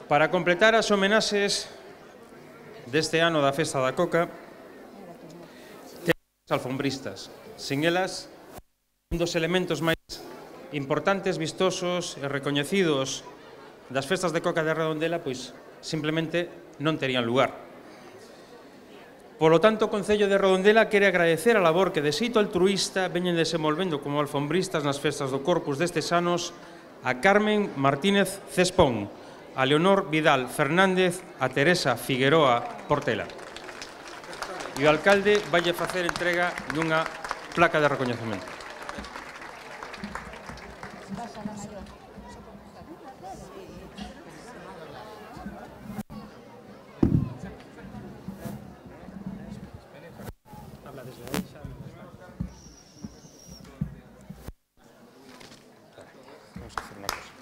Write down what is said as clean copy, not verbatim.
Para completar as homenaxes deste ano da Festa da Coca, temos as alfombristas. Sin elas, un dos elementos máis importantes, vistosos e recoñecidos das festas de Coca de Redondela, pois simplemente non terían lugar. Polo tanto, o Concello de Redondela quere agradecer a labor que de xeito altruísta veñen desenvolvendo como alfombristas nas festas do Corpus destes anos a Carmen Martínez Cespón, a Leonor Vidal Fernández, a Teresa Figueroa Portela. E o alcalde valle facer entrega dunha placa de recoñecemento. Vamos a hacer una cosa.